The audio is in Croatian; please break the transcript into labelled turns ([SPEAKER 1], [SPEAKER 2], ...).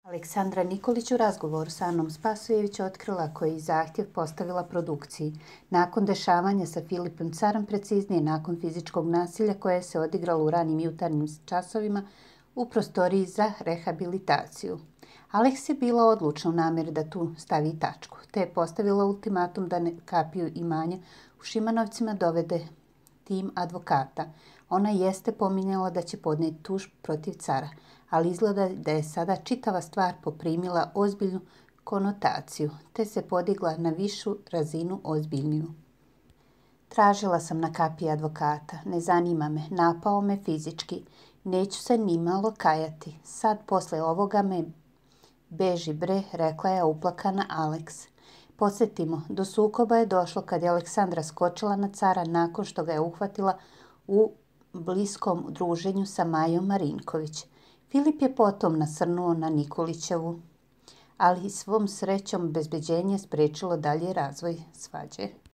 [SPEAKER 1] Aleksandra Nikolić u razgovoru sa Anom Spasojević otkrila koji zahtjev postavila produkciji. Nakon dešavanja sa Filipom Carom, preciznije nakon fizičkog nasilja koje se odigralo u ranim jutarnjim časovima u prostoriji za rehabilitaciju. Aleks je bila odlučna u namjeri da tu stavi tačku, te je postavila ultimatum da kapiju imanja u Šimanovcima dovede tim advokata. Ona jeste pominjala da će podnijeti tužbu protiv Cara, ali izgleda da je sada čitava stvar poprimila ozbiljnu konotaciju, te se podigla na višu razinu ozbiljniju. Tražila sam na kapiji advokata, ne zanima me, napao me fizički, neću se ni malo kajati. Sad posle ovoga me beži bre, rekla je uplakana Aleks. Podsjetimo, do sukoba je došlo kad je Aleksandra skočila na Cara nakon što ga je uhvatila u bliskom druženju sa Majom Marinković. Filip je potom nasrnuo na Nikolićevu, ali svom srećom bezbeđenje spriječilo dalji razvoj svađe.